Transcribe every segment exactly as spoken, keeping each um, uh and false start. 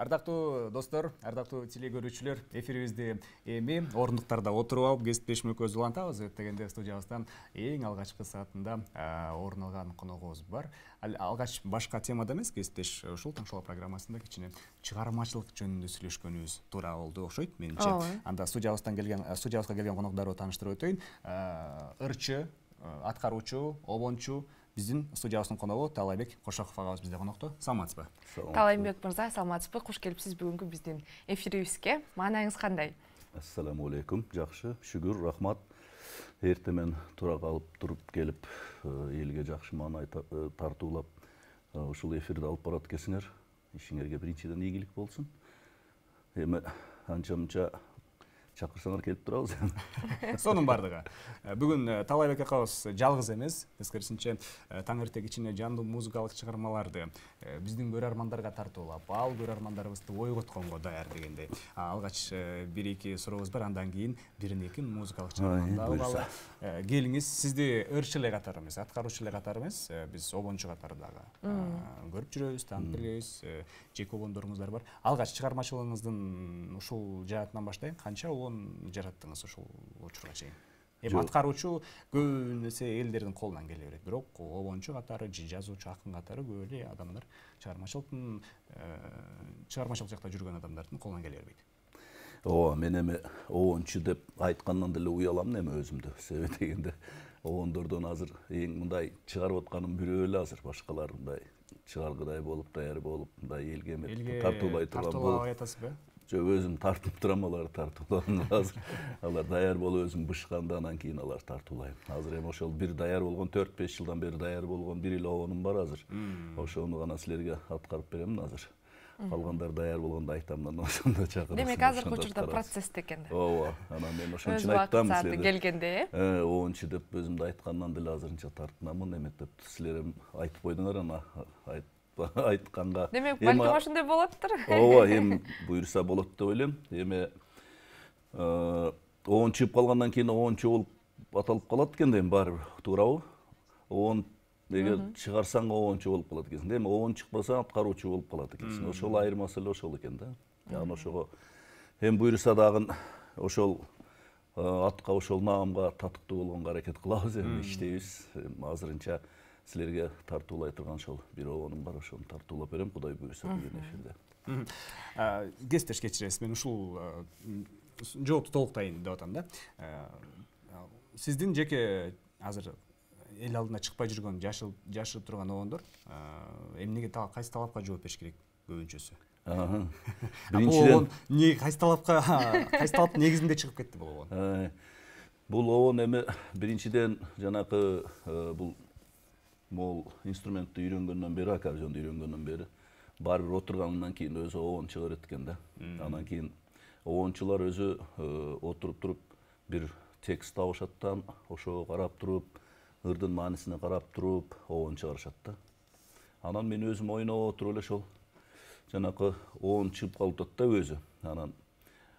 Ардактуу достор, ардактуу телекөрүүчүлөр, эфирибизди эми ордуктарда отуруп алып кесиптешмөкөбүз улантабыз дегенде студиябыздан эң алгачкы саатында орун алган коногубуз бар. Алгач башка темада эмес, кесиптеш ушул Таңшоло программасында кичине чыгармачылык жөнүндө сүйлөшкөнүбүз туура болду окшойт менимче. Анда студиябыздан келген студиябызга келген конокторду тааныштырып өтөйүн. Ырчы, аткаруучу, обончу биздин студиябыздын коногу Таалайбек Кошоков агабыз бизде конокто. Саламатсызбы? Таалайбек мырза, саламатсызбы? Куш келипсиз бүгүнкү биздин эфирибизге. Маанайыңыз кандай? Ассаламу алейкум. Жакшы, шүгүр, рахмат. Эртемен тура калып туруп келип, элге жакшы маанай тартуулап, ушул эфирди алып барат экенсиңер. Ишиңерге биринчиден ийгилик болсун. Эми анча-мынча чакырсаңар келип турабыз. Сонун бардыгы. Бүгүн Таалайбек акабыз жалгыз эмес, тескерисинче таң эрте кичине жандуу музыкалык чыгармаларды биздин көрөрмандарга тартуулап, ал көрөрмандарыбызды ойготконго даяр дегендей. Алгач бир эки сурообуз бар, андан кийин бир-эки музыкалык чыгарманы алалы. Келиңиз, сизди ырчы эле катары эмес, аткаруучу эле катары эмес, биз обончу катары дагы көрүп жүрөбүз, таанып келебиз, жеке обондоруңуздар бар. Алгач чыгармачылыгыңыздын ушул жаатынан баштайын, канча жараттыңыз ушул учурга чейин? Эми аткаруучу көп нерсе элдердин колунан келе берет, бирок обончу катары, жазуучу, акын катары көп эле адамдар чыгармачылыктын чыгармачылык жакта жүргөн адамдардын колунан келе бербейт. Ооба, мен эми обончу деп айткандан деле уяламын эми өзүмдү. Себеби дегенде обондордон азыр эң мындай чыгарып атканым бирөө эле азыр, башкалар мындай чыгаргыдай болуп, даяр болуп, мындай элге тартуулай турган болуп. Тартуулабай атасызбы? Жок, өзүм тартып турам, алар тартуулайм. Азыр алар даяр болуп өзүм бышканда, анан кийин алар тартуулайм. Азыр эми ошол бир даяр болгон, төрт беш жылдан бери даяр болгон бир эле обонум бар азыр. Ошону гана силерге аткарып беремин азыр. Калгандар даяр болгондо айтам, анан ошондо чакырасың. Демек азыркы учурда процессте экен да. Ооба, анан мен ошон үчүн айтам силерге. Келгенде, э? обончу деп өзүмдү айткандан деле азырынча тартынамын, эметип деп силер эми айтып койдуңар, анан айтканга. Демек, балким ошондой болоттур. Ооба, эми буюрса болот деп ойлойм. Эми обон чыгып калгандан кийин обончу болуп аталып калат экен да, эми баары бир, туурабы? Обон эгер чыгарсаң обончу болуп калат экенсиң. Эми обон чыкпасаң аткаруучу болуп калат экенсиң. Ошол айырмасы эле ошол экен да. Анан ошого эми буюрса дагы ошол атка, ошол наамга татыктуу болгонго аракет кылабыз, эми иштейбиз. Азырынча силерге тартуулай турган ошол бир обонум бар, ошону тартуулап берем, Кудай буюрса бүгүн эфирде. Кесиптеш кечиресиз, мен ушул жоопту толуктайын деп атам да. Сиздин жеке азыр эл алдына чыкпай жүргөн, жашырып турган обондор эмнеге, кайсы талапка жооп бериш керек көбүнчөсү? Биринчиден эмне, кайсы талапка, кайсы талаптын негизинде чыгып кетти бул обон? Бул обон эми биринчиден жанакы бул могул инструментти үйрөнгөндөн бери, аккордеонду үйрөнгөндөн бери баары бир отургандан кийин өзү обон чыга берет экен да. Андан кийин обончулар өзү отуруп туруп бир текст табышаттан, ошого карап туруп, ырдын маанисине карап туруп обон чыгарышат да. Анан мен өзүм ойноп отуруп эле ошол жанакы обон чыгып калып атат да өзү. Анан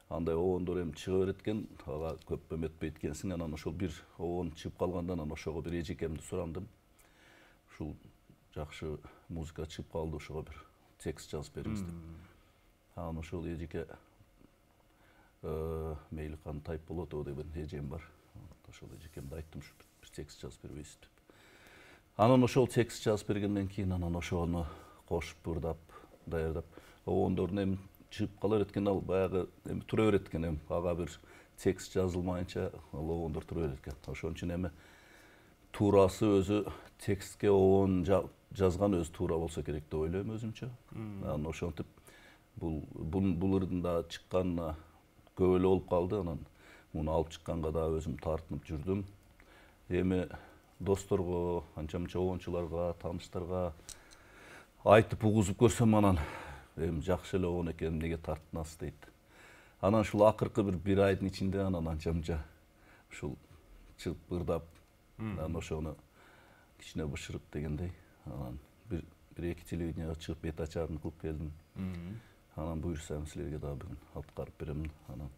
андай обондор эми чыга берет экен, ага көп эметпейт экенсиң. Анан ошол бир обон чыгып калганда, анан ошого бир эжекемди сурандым. Ушул жакшы музыка чыгып калды, ошого бир текст жазып бериңиз деп. Анан ошол эжеке мейли кандай тайп болот о деген эжем бар. Ошол эжекемди айттым, ушу бир текст жазып бербейсиз деп. Анан ошол текст жазып бергенден кийин анан ошону кошуп, ырдап, даярдап, обондордун эми чыгып кала берет экен, ал баягы эми тура берет экен, эми ага бир текст жазылмайынча ал обондор тура берет экен. Ошон үчүн эми туурасы өзү текстке обон жазган өзү туура болсо керек деп ойлойм өзүмчө. Анан ошентип бул бул ырдын да чыкканына көп эле болуп калды. Анан муну алып чыкканга да өзүм тартынып жүрдүм. Эми досторго, анча-мынча обончуларга, тааныштарга айтып угузуп көрсөм, анан эми жакшы эле обон экен, эмнеге тартынасыз дейт. Анан ушул акыркы бир бир айдын ичинде анан анча-мынча ушул чыгып ырдап, анан ошону кичине бышырып дегендей, анан бир бир эки телевиденияга чыгып бет ачарын кылып келдим. Анан буюрсаң силерге дагы бүгүн аткарып берем. Анан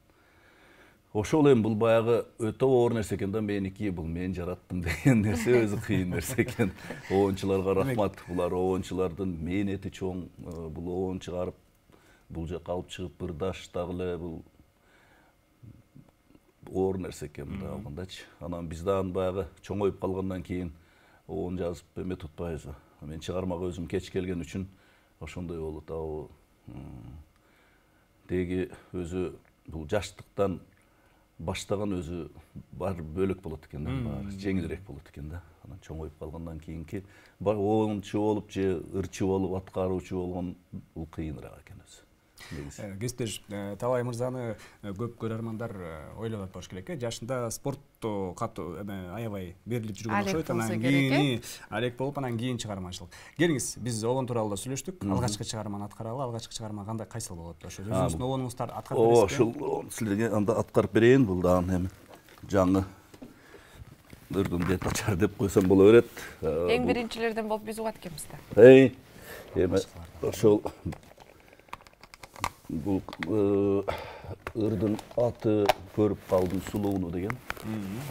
ошол эми бул баягы өтө оор нерсе экен да, меники, бул мен жараттым деген нерсе өзү кыйын нерсе экен. Обончуларга рахмат. Булар обончулардын мээнети чоң. Бул обон чыгарып бул жака алып чыгып ырдаш дагы эле бул оор нерсе экен мындай алгандачы. Анан биз дагы баягы чоңоюп калгандан кийин оон жазып эме тутпайбызбы. Мен чыгармага өзүм кеч келген үчүн ошондой болот. Ал деги өзү бул жаштыктан баштаган өзү бар бөлөк болот экен да, баары жеңилирээк болот экен да. Анан чоңоюп калгандан кийинки оончу болуп же ырчы болуп аткаруучу болгон бул кыйыныраак экен өзү. Кесиптеш, Талай мырзаны көп көрөрмандар ойлоп атпаш керек. Жашында спортту катуу аябай берилип жүргөн окшойт. Анан кийин алек болуп, анан кийин чыгармачылык. Келиңиз, биз обон тууралуу да сүйлөштүк. Алгачкы чыгарманы аткаралы, алгачкы чыгарма кандай кайсыл болот? Ошо өзүңүздүн обонуңуздар аткарып бересизби? Ошол силерге анда аткарып берейин. Бул дагы эми жаңы ырдын бет ачар деп койсом боло берет. Эң биринчилерден болуп биз угат экенбиз да. Эй, эми ошол бул ырдын аты көрүп калдым сулууну деген.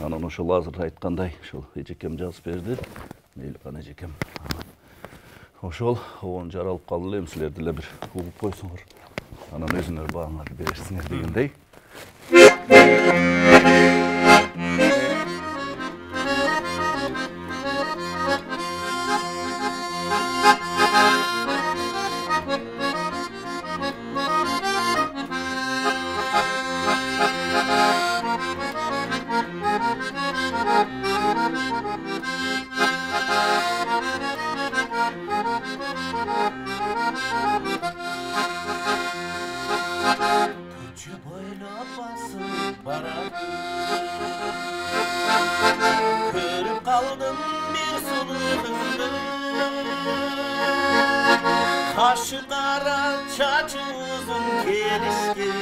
Анан ошол азыр айткандай ошол эжекем жазып берди. Мейликан эжекем. Ошол обон жаралып калды эле, силер деле бир угуп койсоңор. Анан өзүңөр бааңарды берерсиңер дегендей. Көрүп калдым бир сулуу кызды, кашы кара чачы узун келишкен.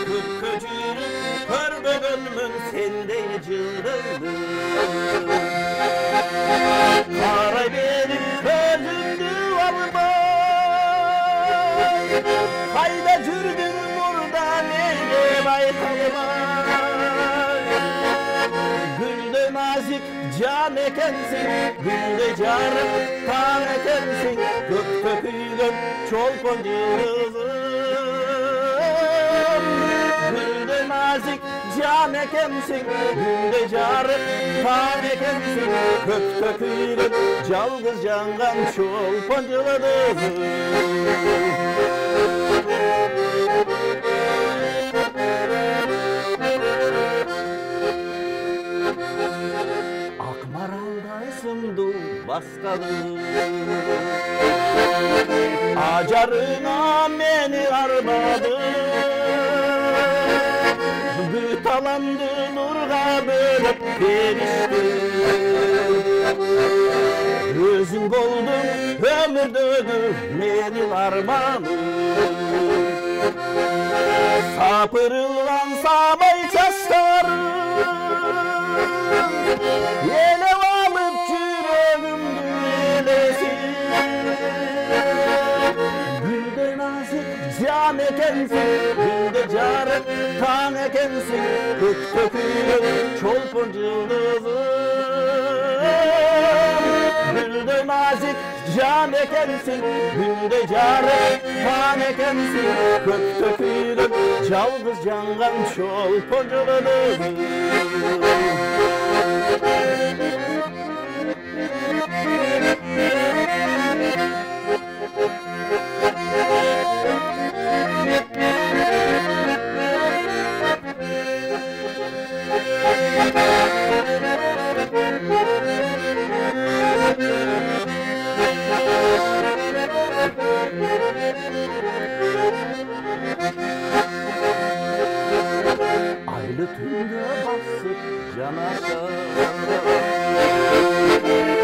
Көпкө жүрүп көрбөгөнмүн сендей жылдызды, карай берип көзүмдү албай, кайда жүрдүң мурда мени байкалбай. Гүлдөй назик жан экенсиң, гүлдөй жарык таң экенсиң, көктө күйгөн чолпон жылдызым. Гүлдөй назик жан экенсиң, гүлдөй жарык таң экенсиң, көктө күйгөн жалгыз жанган чолпон жылдызым. Акмаралдай сымду басканым, ажарыңа мени арбадың. Бүт аламды нурга бөлөп бериштиң. Өзүң болдуң өмүрдөгү менин арманым. Сапырылган самай чачтарың элеп алып жүрөгүмдү элесин. Гүлдөй назик жан экенсиң, гүлдөй жарык таң экенсиң, көктө күйгөн чолпон жылдызым. Гүлдөй назик жан экенсиң, гүлдөй жарык таң экенсиң, көктө күйгөн жалгыз жанган чолпон жылдызым. Айлы түндө басып жанашып,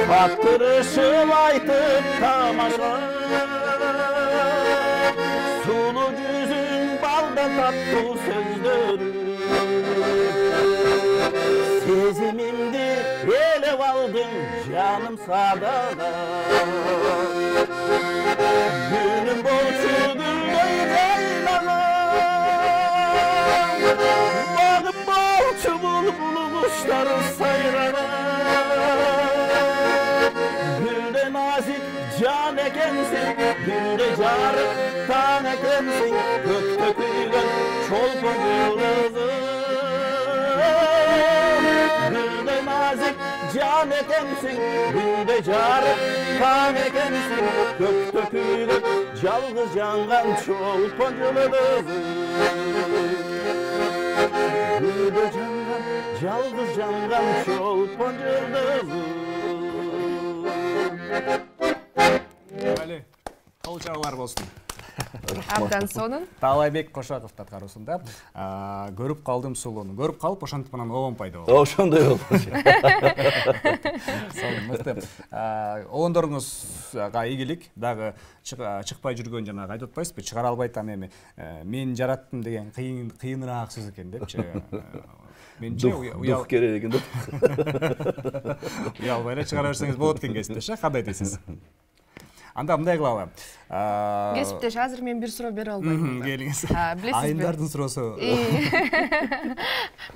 каттырышып айтып тамаша. Сулуу жүзүң балдан таттуу сөздөрү, сезимимди элеп алдың жаным садага. Күнүм болчу гүлдөй жайнаган, багым болчу булбул куштар сайраган. Гүлдөй назик жан экенсиң, гүлдөй жарык таң экенсиң, көктө күйгөн чолпон жылдызым. Гүлдөй назик жан экенсиң, күндөй жарык таң экенсиң, көктө күйгөн жалгыз жанган чолпон жылдызым. Гүлдөй жанган, жалгыз жанган чолпон жылдызым. Али, кол чабуулар болсун. Абдан сонун. Таалайбек Кошаковдун аткаруусунда көрүп калдым сулууну. Көрүп калып ошентип анан обон пайда болду. Ошондой болду. Сонун, мыкты. Обондоруңузга ийгилик. Дагы чыкпай жүргөн жанагы айтып атпайсызбы? Чыгара албайт ам эми. Мен жараттым деген кыйын кыйыныраак сөз экен депчи. Менче уял керек экен деп. Уялбай эле чыгара берсеңиз болот экен кесиптеш, кандай дейсиз? Анда мындай кылалы. Кесиптеш, азыр мен бир суроо бере албайм. Келиңиз. Билесизби? Айымдардын суроосу.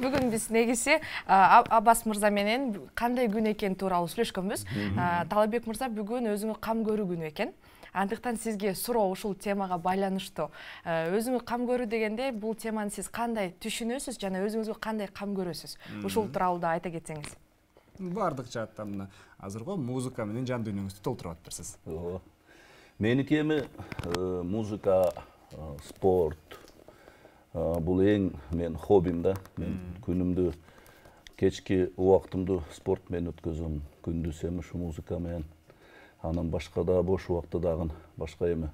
Бүгүн биз негизи Аббас мырза менен кандай күн экени тууралуу сүйлөшкөнбүз. Таалайбек мырза, бүгүн өзүңө кам көрүү күнү экен. Андыктан сизге суроо ушул темага байланыштуу. Өзүңө кам көрүү дегенде бул теманы сиз кандай түшүнөсүз жана өзүңүзгө кандай кам көрөсүз? Ушул тууралуу да айта кетсеңиз. Бардык жааттан мына азыркы музыка менен жан дүйнөңүздү толтуруп атыптырсыз. Ооба. Меники эми музыка, спорт бул эң мен хоббим да. Мен күнүмдү, кечки убактымды спорт менен өткөзөм, күндүз эми ушу музыка менен. Анан башка да бош убакта дагы башка эми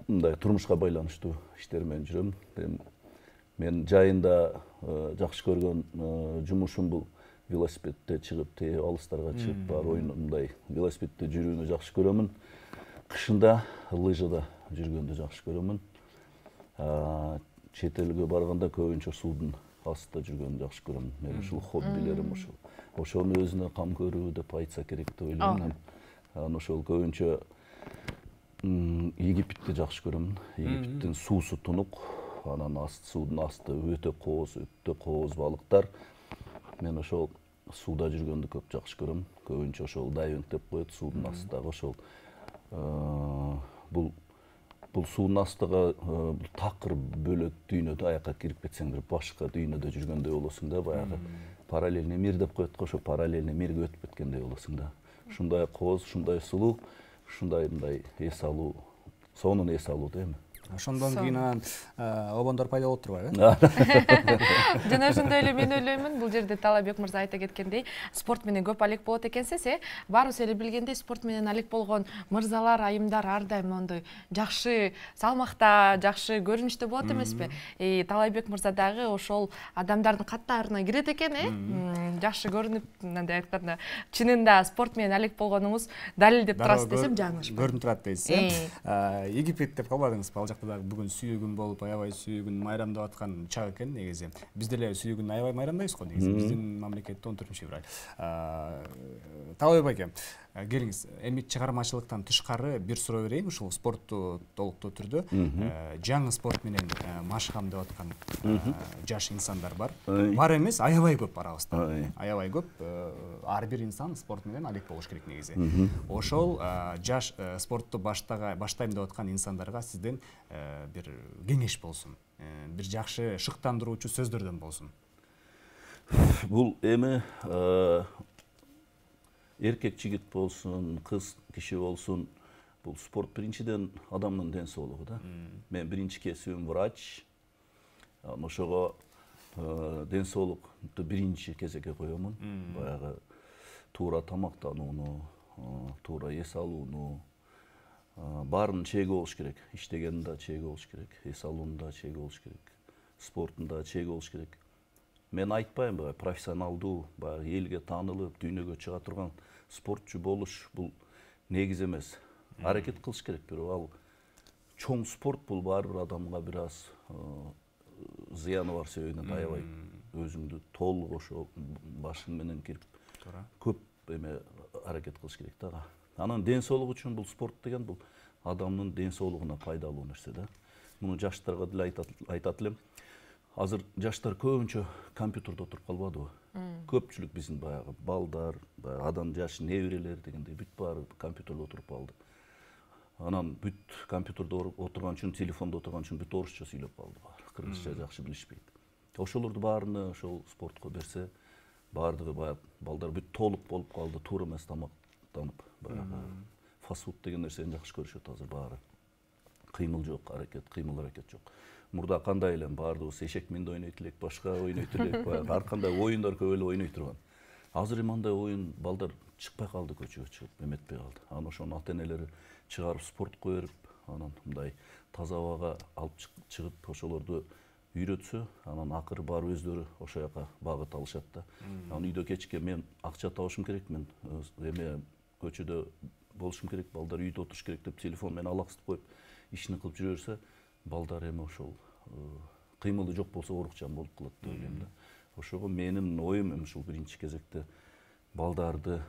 мындай турмушка байланыштуу иштер менен жүрөм. Мен жайында жакшы көргөн жумушум бул велосипедде чыгып, те алыстарга чыгып, бар оюн мындай велосипедде жүрүүнү жакшы көрөмүн. Кышында лыжада жүргөндү жакшы көрөмүн. Чет элге барганда көбүнчө суудун астында жүргөндү жакшы көрөм. Менин ушул хоббилерим ушул. Ошону өзүнө кам көрүү деп айтса керек деп ойлойм. Анан ошол көбүнчө Египетти жакшы көрөм. Египеттин суусу тунук, анан аст суудун асты өтө кооз, өтө кооз балыктар. Мен ошол сууда жүргөндү көп жакшы көрөм. Көбүнчө ошол дайвинг деп коет, суудун астындагы ошол бул бул суунун астыга такыр бөлөк дүйнөдө аяка кирип кетсең бир башка дүйнөдө жүргөндөй болосуң да, баягы параллельный мир деп коет го, ошо параллельный мирге өтүп кеткендей болосуң да. Ушундай кооз, ушундай сулуу, ушундай мындай эс алуу, сонун эс алуу да эми. Ошондон кийин анан обондор пайда болуп турбайбы? Жана ошондой эле мен ойлоймун, бул жерде Таалайбек мырза айта кеткендей, спорт менен көп алек болот экенсиз, э? Баарыбыз эле билгендей, спорт менен алек болгон мырзалар, айымдар ар дайым мондой жакшы салмакта, жакшы көрүнүштө болот эмеспи? Таалайбек мырза дагы ошол адамдардын каттарына кирет экен, э? Жакшы көрүнүп, мындай айтканда, чынында спорт менен алек болгонуңуз далилдеп турасыз десем жаңылышпайм. Көрүнүп турат дейсиз, э? Египет деп калбадыңызбы? Ал жакта дагы бүгүн сүйүү болуп, аябай сүйүү майрамдап аткан чак экен негизи. Биз деле сүйүү аябай майрамдайбыз го негизи. Биздин мамлекетте он төртүнчү февраль. Таалайбек аке, келиңиз, эми чыгармачылыктан тышкары бир суроо берейин, ушул спортту толуктуу түрдө. Жаңы спорт менен машыгам деп аткан жаш инсандар бар. Бар эмес, аябай көп арабызда. Аябай көп. Ар бир инсан спорт менен алек болуш керек негизи. Ошол жаш спортту баштайм деп аткан инсандарга сизден бир кеңеш болсун, бир жакшы шыктандыруучу сөздөрдөн болсун. Бул эми эркек жигит болсун, кыз киши болсун, бул спорт биринчиден адамдын ден соолугу да. Мен биринчи кесибим врач. Ошого ден соолукту биринчи кезекке коёмун. Баягы туура тамактанууну, туура эс алууну, баарын чеги болуш керек. Иштегенде чеги болуш керек, эс алуунда чеги болуш керек, спортунда чеги болуш керек. Мен айтпайм, баягы профессионалдуу, баягы элге таанылып, дүйнөгө чыга турган спортчу болуш бул негиз эмес. Аракет кылыш керек, бирок ал чоң спорт бул баар бир адамга бир аз зыяны бар себебинен аябай өзүңдү толук ошо башың менен кирип көп эме аракет кылыш керек да. Анан ден соолук үчүн бул спорт деген бул адамдын ден соолугуна пайдалуу нерсе да. Муну жаштарга деле айтат элем. Азыр жаштар көбүнчө компьютерде отуруп калбадыбы? Көпчүлүк биздин баягы балдар, адам жаш неберелер дегендей бүт баары компьютерде отуруп калды. Анан бүт компьютерде отурган үчүн, телефондо отурган үчүн бүт орусча сүйлөп калды баары. Кыргызча жакшы билишпейт. Ошолорду баарыны ошол спортко берсе, баардыгы баягы балдар бүт толук болуп калды, туура эмес тамактанып, баягы фастфуд деген нерсени жакшы көрүшөт азыр баары. Кыймыл жок, аракет, кыймыл аракет жок. Мурда кандай эле баардыгыбыз эшек менде ойнойт элек, башка ойнойт элек, баягы ар кандай оюндар көп эле ойной турган. Азыр мындай оюн балдар чыкпай калды, көчөгө чыгып эметпей калды. Анан ошону ата-энелери чыгарып спортко берип, анан мындай таза абага алып чыгып ошолорду үйрөтсө, анан акыры барып өздөрү ошол жака багыт алышат да. Анан үйдө кечке мен акча табышым керек, мен эме көчөдө болушум керек, балдар үйдө отуруш керек деп телефон менен алаксытып коюп ишин кылып жүрө берсе, балдар эми ошол кыймылы жок болсо оорукчан болуп калат деп ойлойм да. Ошого менин оюм эми ушул биринчи кезекте балдарды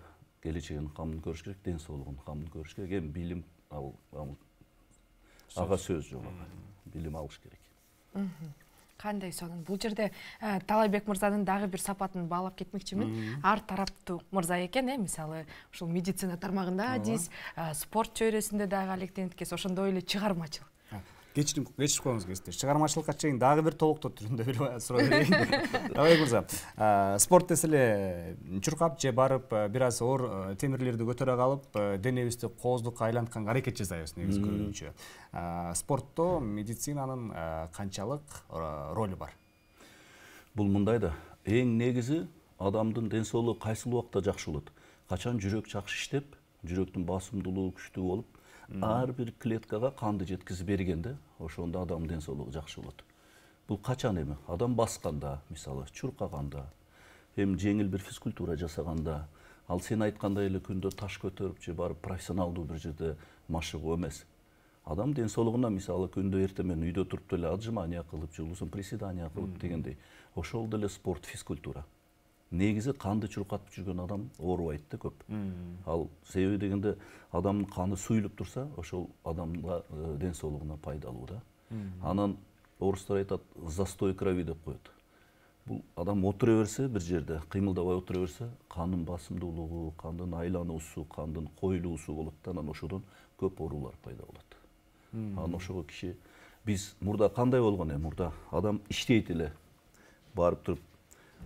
келечегин камын көрүш керек, ден соолугун камын көрүш керек. Эми билим ал ага сөз жок. Билим алыш керек. Кандай сонун? Бул жерде Таалайбек мырзанын дагы бир сапатын баалап кетмекчимин. Ар тараптуу мырза экен, э, мисалы, ушул медицина тармагында адис, спорт чөйрөсүндө дагы алектенеткес, ошондой эле чыгармачыл. Кечирим, кечирип коюңуз кесиптеш. Чыгармачылыкка чейин дагы бир толуктоо түрүндө бир суроо берейин. Таалайбек мырза, спорт десе эле чуркап же барып бир аз оор темирлерди көтөрө калып, денебизди кооздукка айлантканга аракет жасайбыз негизи көбүнчө. Спортто медицинанын канчалык ролу бар? Бул мындай да, эң негизи адамдын ден соолугу кайсыл убакта жакшы болот? Качан жүрөк жакшы иштеп, жүрөктүн басымдуулугу күчтүү болуп, ар бир клеткага канды жеткизип бергенде, ошондо адамдын ден соолугу жакшы болот. Бул качан эми? Адам басканда, мисалы, чуркаганда, эми жеңил бир физкультура жасаганда, ал сен айткандай эле күндө таш көтөрүп же барып профессионалдуу бир жерде машыгуу эмес. Адам ден соолугуна, мисалы, күндө эртең менен үйдө туруп деле отжимание кылып, жылуусун приседание кылып дегендей, ошол деле спорт, физкультура. Негизи канды чуркатып жүргөн адам оорубайт да көп. Ал себеби дегенде адамдын каны суюлуп турса, ошол адамга ден соолугуна пайдалуу да. Анан орустар айтат, застой крови деп коет. Бул адам отура берсе бир жерде, кыймылдабай отура берсе, кандын басымдуулугу, кандын айлануусу, кандын коюлуусу болот да, анан ошодон көп оорулар пайда болот. Анан ошого киши биз мурда кандай болгон эми? Мурда адам иштейт эле, барып туруп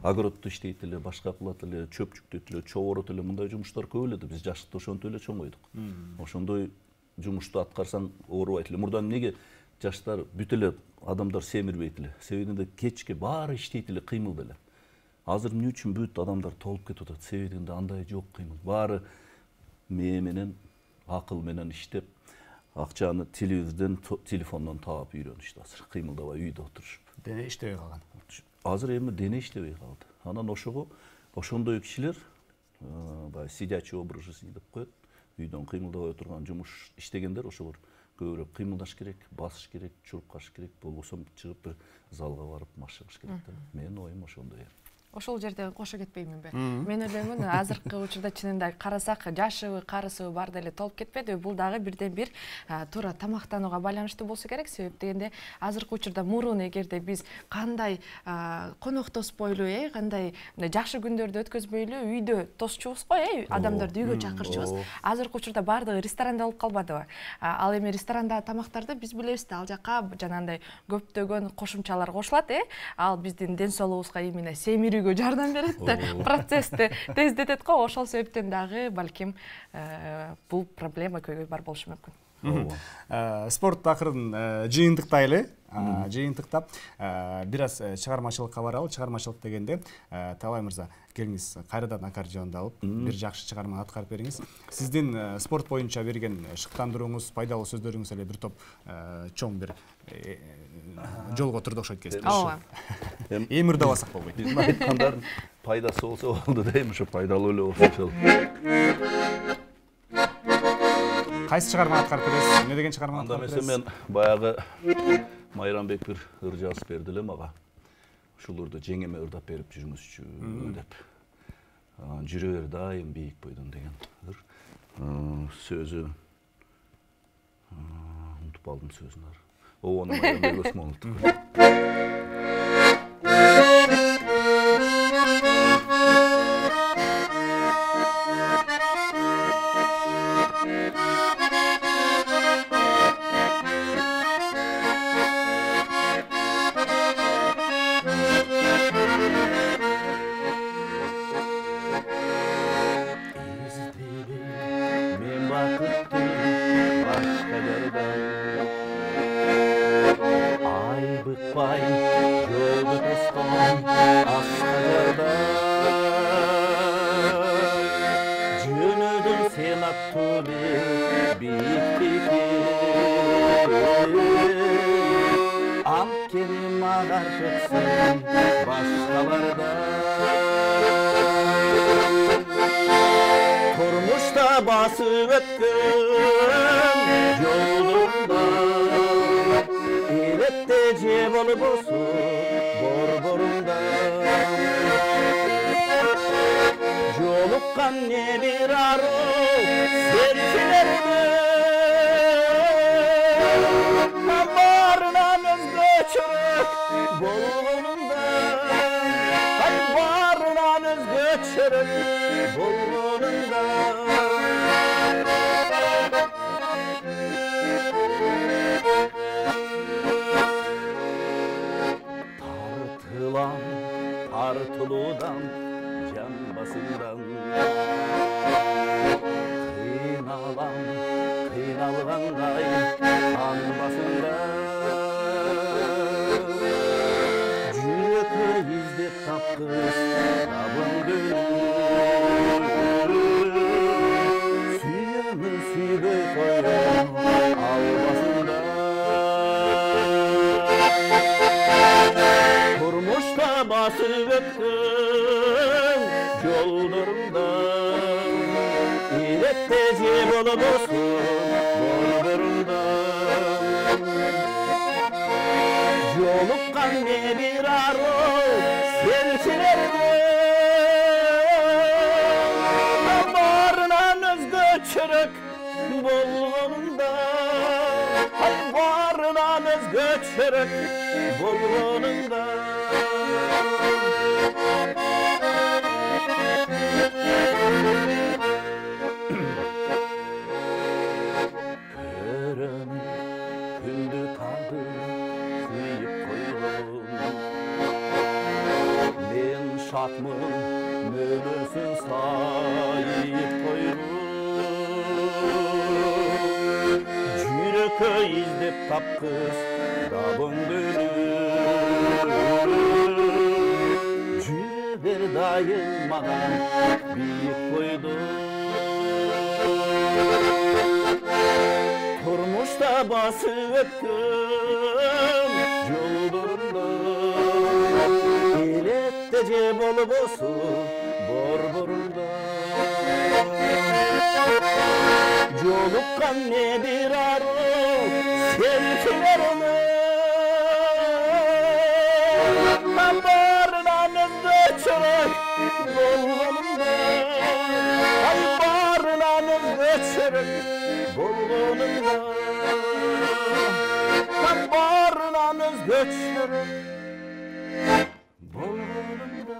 огородто иштейт эле, башка кылат эле, чөп жүктөйт эле, чоборот эле, мындай жумуштар көп эле да, биз жашыкта ошентип эле чоңойдук. Ошондой жумушту аткарсаң оорубайт эле. Мурда эмнеге жаштар бүт эле адамдар семирбейт эле? Себебинде кечке баары иштейт эле, кыймылда эле. Азыр эмне үчүн бүт адамдар толуп кетип атат? Себебинде андай жок кыймыл. Баары мээ менен, акыл менен иштеп, акчаны телевизордон, телефондон таап үйрөнүштү азыр. Кыймылдабай үйдө отурушуп. Дене иштебей калган. Азыр эми дене иштебей калды. Анан ошого ошондой кишилер баягы сидячий образ жизни деп коет. Үйдөн кыймылдабай отурган жумуш иштегендер ошолор көбүрөөк кыймылдаш керек, басыш керек, чуркаш керек, болбосо чыгып бир залга барып машыгыш керек да. Менин оюм ошондой. Ошол жерде кошо кетпейминби? Мен ойлоймун, азыркы учурда чынында карасак, жашыбы, карысыбы бар деле толуп кетпедиби? Бул дагы бирден бир туура тамактанууга байланыштуу болсо керек. Себеп дегенде азыркы учурда мурун эгерде биз кандай коноктоспойлу, э, кандай жакшы күндөрдү өткөзбөйлү, үйдө тосчубуз го, э, адамдарды үйгө чакырчубуз. Азыркы учурда баардыгы ресторанда болуп калбадыбы? Ал эми ресторандагы тамактарды биз билебиз да, ал жака жанагындай көптөгөн кошумчалар кошулат, э? Ал биздин ден соолугубузга именно семирүү жардам берет да, процессти тездетет го. Ошол себептен дагы балким бул проблема көйгөй бар болушу мүмкүн. Спорт акырын жыйынтыктайлы. Жыйынтыктап бир аз чыгармачылыкка баралы. Чыгармачылык дегенде Таалай мырза, келиңиз кайрадан аккордеонду алып, бир жакшы чыгарма аткарып бериңиз. Сиздин спорт боюнча берген шыктандырууңуз, пайдалуу сөздөрүңүз эле бир топ чоң бир жолго турду окшойт кесиптеш. Ооба. Эми ырдабасак болбойт. Биздин айткандардын пайдасы болсо болду да, эми ошо пайдалуу эле болсо. Кайсы чыгарма аткарып бересиз? Эмне деген чыгарма Анда аткарып эмесе бересиз? мен баягы Майрамбек бир ыр жазып берди эле мага. Ушуларды жеңеме ырдап берип жүрүңүзчү деп. Жүрө бер дайым бийик бойдон деген ыр. Сөзү унутуп алдым сөзүн. Оonu Майрамбек Осмоновдуку. жолдардан айбыкпай жолду тосткон аскажарда жөнөдүң сен аттуу бииктикке анткени магар төксөң башкаларда турмушта басып өткөн жолдорунда элетте же болбосо борборунда жолуккан не бир аруу серчилерди баарынан өзгөчөрөөк болгонунда ай баарынан өзгөчөрөөк болгонунда тартылам тартылуудан жан басымдан кыйналам кыйналгандай ан басымда жүрөккө издеп тапкыс табыңды сүйөмүн сүйбөй коем албасында турмушта басып өткөн жолдорунда элетте же болбосо борборунда жолуккан не бир аруу серчилерди баарынан өзгөчөрөөк болгонунда ай баарынан өзгөчөрөөк болгонунда көрөм күндү тарды сүйүп койгон мен шатмын мөмөсүн сайып койгон жүрөккө издеп тапкыс табыңды жүрө бер дайым мага бийик койду турмушта басып өткөн жолдорунда элетте же болбосо борборунда жолуккан не бир аруу серчилерди баарынан өзгөчөрөөк болгонунда ай баарынан өзгөчөрөөк болгонунда баарынан өзгөчөрөөк болгонунда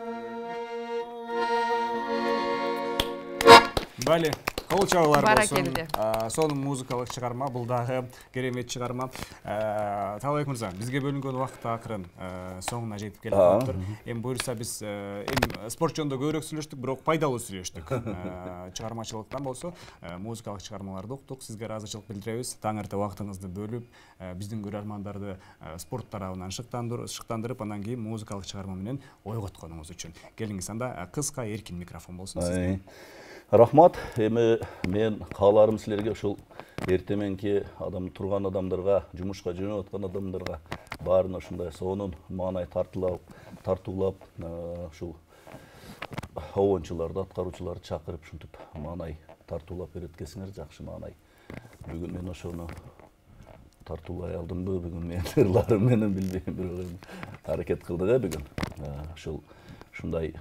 Бали, кол чабуулар болсун. Баракелде. Сонун музыкалык чыгарма, бул дагы керемет чыгарма. Талайбек мырза, бизге бөлүнгөн убакыт акырын соңуна жетип келип калыптыр. Эми буюрса биз эми спорт жөнүндө көбүрөөк сүйлөштүк, бирок пайдалуу сүйлөштүк. Чыгармачылыктан болсо музыкалык чыгармаларды уктук, сизге ыраазычылык билдиребиз. Таң эрте убактыңызды бөлүп, биздин көрөрмандарды спорт тарабынан шыктандырып, андан кийин музыкалык чыгарма менен ойготконуңуз үчүн. Келиңиз, анда кыска эркин микрофон болсун сизге. Рахмат. Эми мен кааларым силерге ушул эрте мененки адам турган адамдарга, жумушка жөнөп аткан адамдарга баарына ушундай сонун маанай тартуулап, тартуулап, ушул обончуларды, аткаруучуларды чакырып ушинтип маанай тартуулап береткенсиңер, жакшы маанай. Бүгүн мен ошону тартуулай алдымбы, бүгүн мен ырларым менен билбейм, бирок аракет кылдык э бүгүн. Ушул ушундай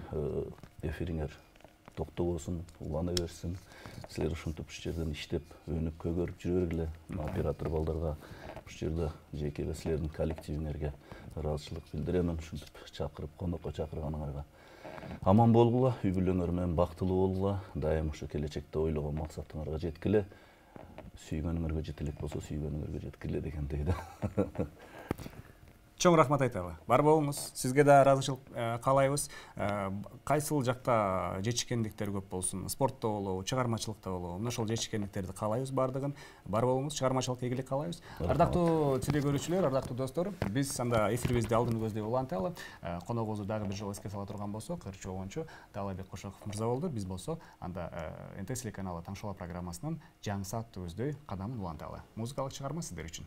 эфириңер токтобосун, улана берсин. Силер ушинтип ушу жерден иштеп, өнүп көгөрүп жүрө бергиле. Оператор балдарга ушу жерде жеке эле силердин коллективиңерге ыраазычылык билдиремин. Ушинтип чакырып, конокко чакырганыңарга аман болгула, үй бүлөңөр менен бактылуу болгула, дайым ушу келечекте ойлогон максатыңарга жеткиле. Сүйгөнүңөргө жете элек болсо, сүйгөнүңөргө жеткиле дегендей да. чоң рахмат айталы. Бар болуңуз. Сизге да ыраазычылык каалайбыз. Кайсыл жакта жетишкендиктер көп болсун, спортто болобу, чыгармачылыкта болобу, мына ошол жетишкендиктерди каалайбыз бардыгын. Бар болуңуз, чыгармачылыкка ийгилик каалайбыз. Ардактуу телекөрүүчүлөр, ардактуу достор, биз анда эфирибизди алдын көздөй уланталы. Коногубузду дагы бир жолу эске сала турган болсок, ырчы обончу Таалайбек Кошоков мырза болду. Биз болсо анда эн тэ телеканалы Таң шоу программасынын жаңы сааттуу көздөй кадамын уланталы. Музыкалык чыгарма сиздер үчүн.